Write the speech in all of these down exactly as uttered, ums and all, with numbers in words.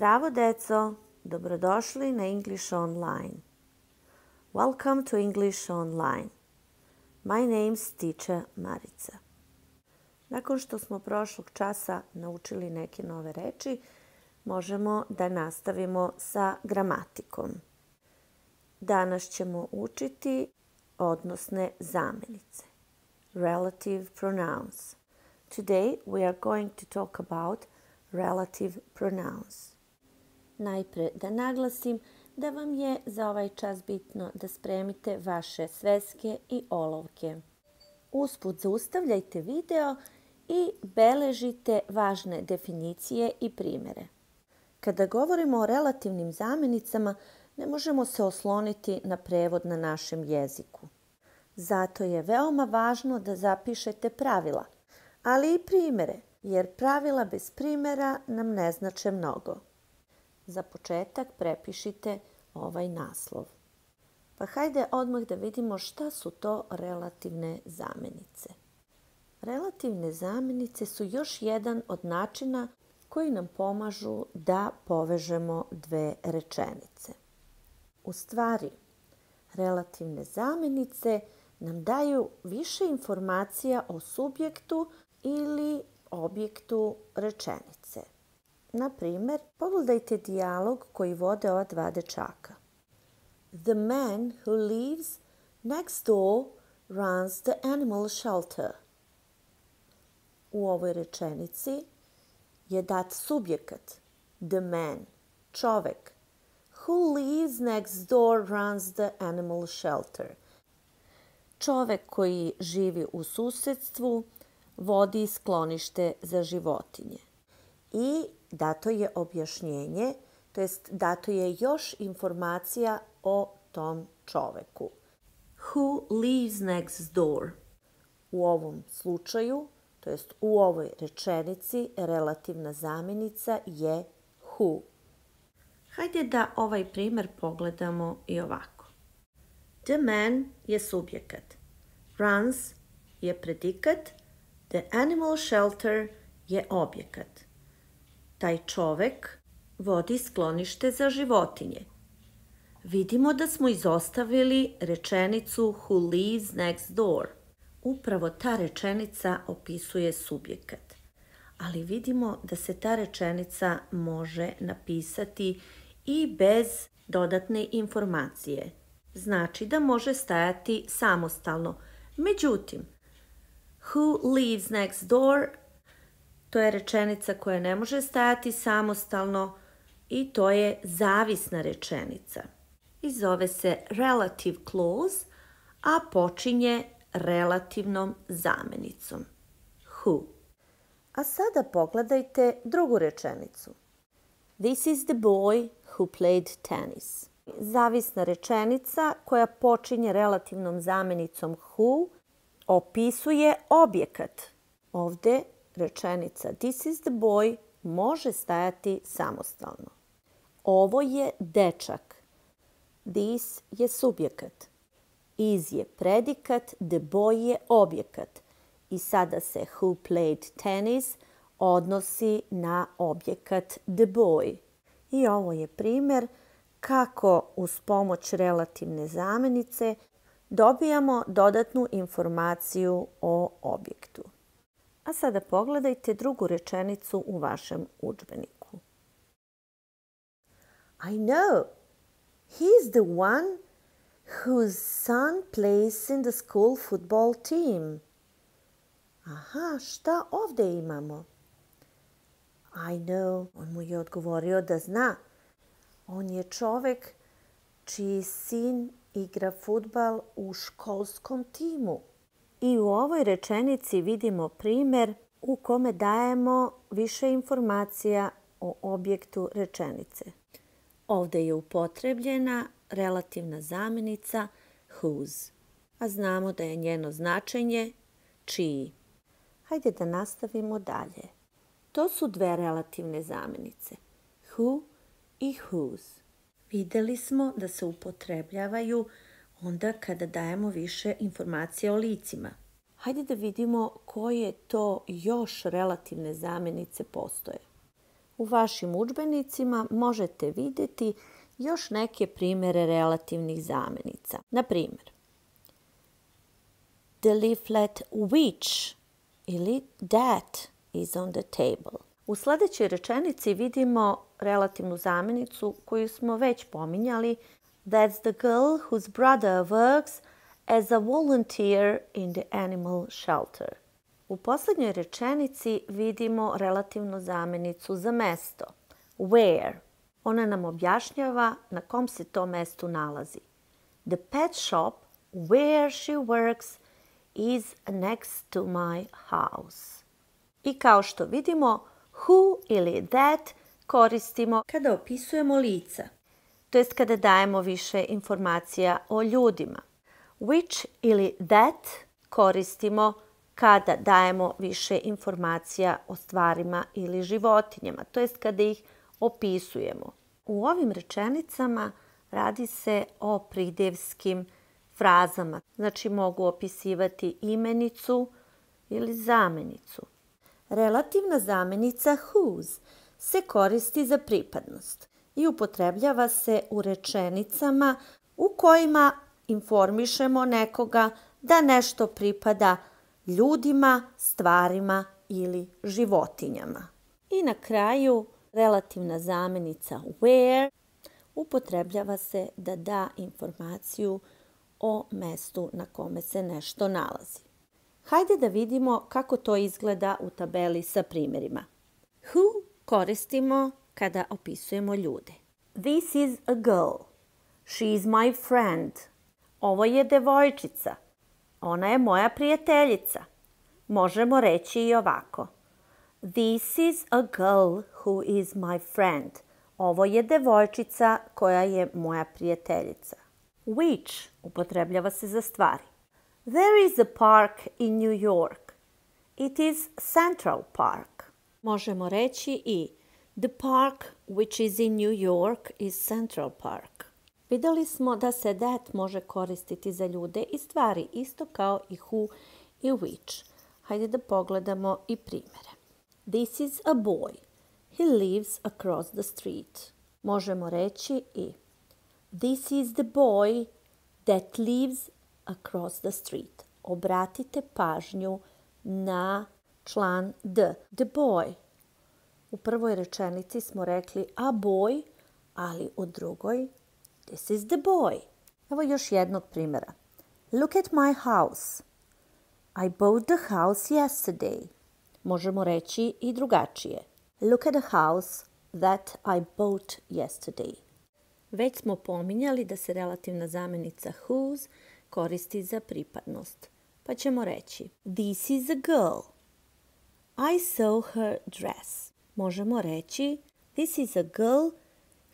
Zdravo deco, dobrodošli na English Online. Welcome to English Online. My name's teacher Marica. Nakon što smo prošlog časa naučili neke nove reči, možemo da nastavimo sa gramatikom. Danas ćemo učiti odnosne zamenice. Relative pronouns. Today we are going to talk about relative pronouns. Najpre da naglasim da vam je za ovaj čas bitno da spremite vaše sveske i olovke. Usput zaustavljajte video i beležite važne definicije i primjere. Kada govorimo o relativnim zamenicama, ne možemo se osloniti na prevod na našem jeziku. Zato je veoma važno da zapišete pravila, ali i primjere, jer pravila bez primjera nam ne znače mnogo. Za početak prepišite ovaj naslov. Pa hajde odmah da vidimo šta su to relativne zamenice. Relativne zamenice su još jedan od načina koji nam pomažu da povežemo dve rečenice. U stvari, relativne zamenice nam daju više informacija o subjektu ili objektu rečenice. Na primjer, pogledajte dijalog koji vode ova dva dečaka. The man who lives next door runs the animal shelter. U ovoj rečenici je dat subjekat, the man, čovek. Who lives next door runs the animal shelter. Čovek koji živi u susedstvu vodi sklonište za životinje. I dato je objašnjenje, to jest dato je još informacija o tom čoveku. Who lives next door? U ovom slučaju, to jest u ovoj rečenici, relativna zamjenica je who. Hajde da ovaj primjer pogledamo i ovako. The man je subjekat. Runs je predikat. The animal shelter je objekat. Taj čovek vodi sklonište za životinje. Vidimo da smo izostavili rečenicu who lives next door. Upravo ta rečenica opisuje subjekat. Ali vidimo da se ta rečenica može napisati i bez dodatne informacije. Znači da može stajati samostalno. Međutim, who lives next door, to je rečenica koja ne može stajati samostalno i to je zavisna rečenica. I zove se relative clause, a počinje relativnom zamenicom. Who. A sada pogledajte drugu rečenicu. This is the boy who played tennis. Zavisna rečenica koja počinje relativnom zamenicom who opisuje objekat. Ovdje rečenica this is the boy može stajati samostalno. Ovo je dečak. This je subjekat. Is je predikat, the boy je objekat. I sada se who played tennis odnosi na objekat the boy. I ovo je primjer kako uz pomoć relativne zamenice dobijamo dodatnu informaciju o objektu. A sada pogledajte drugu rečenicu u vašem udžbeniku. I know. He's the one whose son plays in the school football team. Aha, šta ovdje imamo? I know. On mu je odgovorio da zna. On je čovek čiji sin igra fudbal u školskom timu. I u ovoj rečenici vidimo primjer u kome dajemo više informacija o objektu rečenice. Ovdje je upotrebljena relativna zamjenica whose, a znamo da je njeno značenje čiji. Hajde da nastavimo dalje. To su dve relativne zamjenice, who i whose. Vidjeli smo da se upotrebljavaju onda kada dajemo više informacija o licima. Hajde da vidimo koje to još relativne zamjenice postoje. U vašim udžbenicima možete vidjeti još neke primjere relativnih zamjenica. Na primjer, the leaflet which ili that is on the table. U sljedećoj rečenici vidimo relativnu zamjenicu koju smo već pominjali. That's the girl whose brother works as a volunteer in the animal shelter. U posljednjoj rečenici vidimo relativnu zamjenicu za mesto. Where? Ona nam objašnjava na kom se to mestu nalazi. The pet shop where she works is next to my house. I kao što vidimo, who ili that koristimo kada opisujemo lica, to jest kada dajemo više informacija o ljudima. Which ili that koristimo kada dajemo više informacija o stvarima ili životinjama, to jest kada ih opisujemo. U ovim rečenicama radi se o pridjevskim frazama, znači mogu opisivati imenicu ili zamjenicu. Relativna zamjenica whose se koristi za pripadnost i upotrebljava se u rečenicama u kojima informišemo nekoga da nešto pripada ljudima, stvarima ili životinjama. I na kraju relativna zamjenica where upotrebljava se da da informaciju o mestu na kome se nešto nalazi. Hajde da vidimo kako to izgleda u tabeli sa primjerima. Who koristimo kada opisujemo ljude. This is a girl. She is my friend. Ovo je devojčica. Ona je moja prijateljica. Možemo reći i ovako. This is a girl who is my friend. Ovo je devojčica koja je moja prijateljica. Which upotrebljava se za stvari. There is a park in New York. It is Central Park. Možemo reći i the park which is in New York is Central Park. Vidjeli smo da se that može koristiti za ljude i stvari, isto kao i who i which. Hajde da pogledamo i primjere. This is a boy. He lives across the street. Možemo reći i this is the boy that lives across the street. Obratite pažnju na član the. The boy. U prvoj rečenici smo rekli a boy, ali u drugoj this is the boy. Evo još jednog primjera. Look at my house. I bought the house yesterday. Možemo reći i drugačije. Look at the house that I bought yesterday. Već smo pominjali da se relativna zamjenica whose koristi za pripadnost. Pa ćemo reći this is a girl. I saw her dress. Možemo reći this is a girl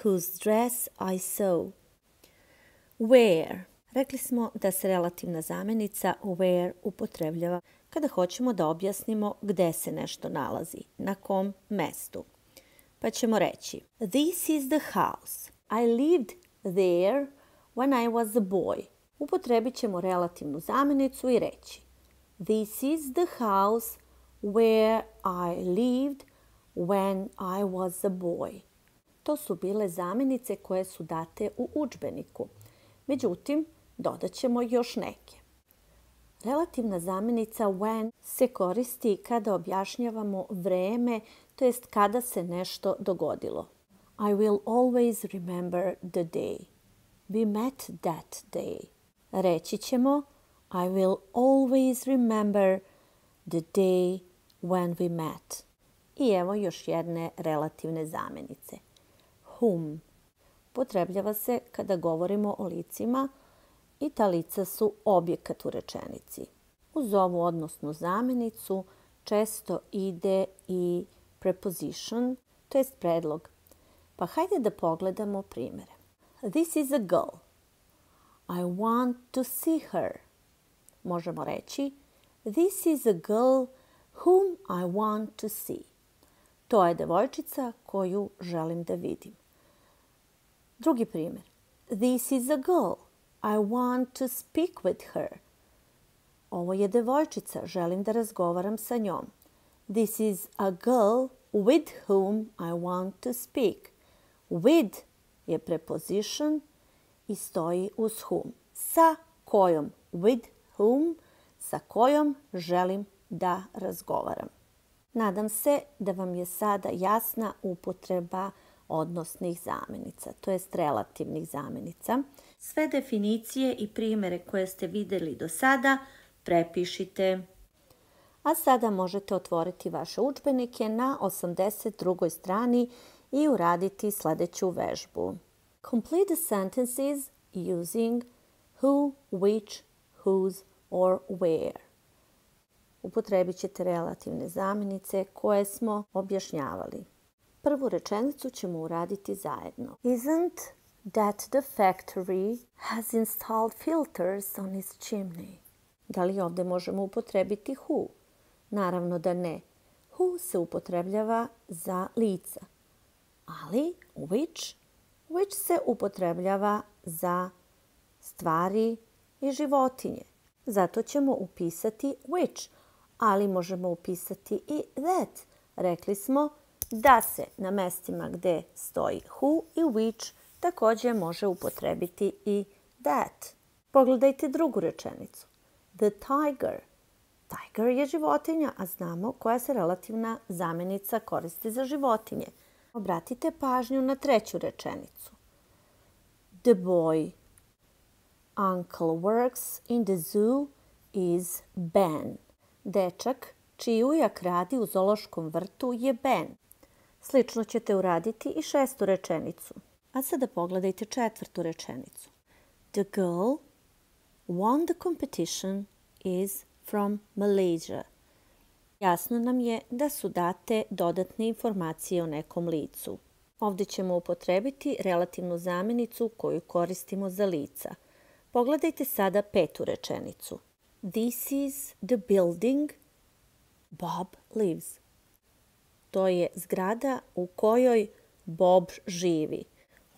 whose dress I saw. Where. Rekli smo da se relativna zamjenica where upotrebljava kada hoćemo da objasnimo gdje se nešto nalazi, na kom mestu. Pa ćemo reći this is the house. I lived there when I was a boy. Upotrebit ćemo relativnu zamjenicu i reći this is the house where I lived when I was a boy. To su bile zamjenice koje su date u udžbeniku. Međutim, dodat ćemo još neke. Relativna zamjenica when se koristi kada objašnjavamo vreme, to jest kada se nešto dogodilo. I will always remember the day. We met that day. Reći ćemo I will always remember the day when we met. I evo još jedne relativne zamjenice. Whom. Upotrebljava se kada govorimo o licima i ta lica su objekat u rečenici. Uz ovu odnosnu zamjenicu često ide i preposition, to jest predlog. Pa hajde da pogledamo primjere. This is a girl. I want to see her. Možemo reći this is a girl whom I want to see. To je devojčica koju želim da vidim. Drugi primjer. This is a girl. I want to speak with her. Ovo je devojčica, želim da razgovaram sa njom. This is a girl with whom I want to speak. With je preposition i stoji uz whom. Sa kojom, with whom, sa kojom želim da razgovaram. Nadam se da vam je sada jasna upotreba odnosnih zamjenica, to jest relativnih zamjenica. Sve definicije i primjere koje ste vidjeli do sada prepišite. A sada možete otvoriti vaše udžbenike na osamdeset drugoj strani i uraditi sljedeću vežbu. Complete the sentences using who, which, whose or where. Upotrebit ćete relativne zamjenice koje smo objašnjavali. Prvu rečenicu ćemo uraditi zajedno. Isn't that the factory has installed filters on its chimney? Da li ovdje možemo upotrebiti who? Naravno da ne. Who se upotrebljava za lica. Ali which? Which se upotrebljava za stvari i životinje. Zato ćemo upisati which, ali možemo upisati i that. Rekli smo da se na mestima gdje stoji who i which također može upotrebiti i that. Pogledajte drugu rečenicu. The tiger. Tiger je životinja, a znamo koja se relativna zamjenica koristi za životinje. Obratite pažnju na treću rečenicu. The boy. Uncle works in the zoo is Ben. Dečak čiji ujak radi u zoološkom vrtu je Ben. Slično ćete uraditi i šestu rečenicu. A sada pogledajte četvrtu rečenicu. The girl won the competition is from Malaysia. Jasno nam je da su date dodatne informacije o nekom licu. Ovdje ćemo upotrebiti relativnu zamjenicu koju koristimo za lica. Pogledajte sada petu rečenicu. This is the building Bob lives. To je zgrada u kojoj Bob živi.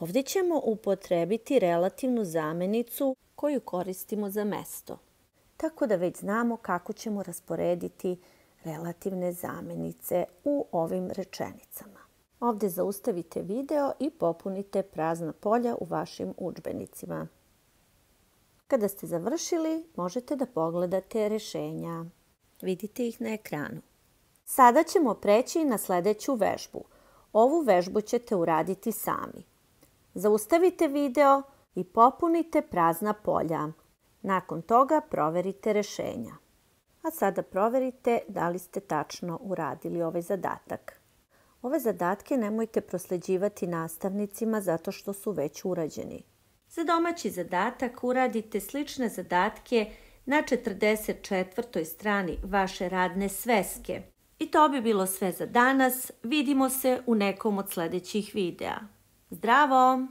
Ovdje ćemo upotrebiti relativnu zamjenicu koju koristimo za mesto. Tako da već znamo kako ćemo rasporediti relativne zamjenice u ovim rečenicama. Ovdje zaustavite video i popunite prazna polja u vašim udžbenicima. Kada ste završili, možete da pogledate rješenja. Vidite ih na ekranu. Sada ćemo preći na sljedeću vežbu. Ovu vežbu ćete uraditi sami. Zaustavite video i popunite prazna polja. Nakon toga proverite rješenja. A sada proverite da li ste tačno uradili ovaj zadatak. Ove zadatke nemojte prosljeđivati nastavnicima zato što su već urađeni. Za domaći zadatak uradite slične zadatke na četrdeset četvrtoj strani vaše radne sveske. I to bi bilo sve za danas. Vidimo se u nekom od sljedećih videa. Zdravo!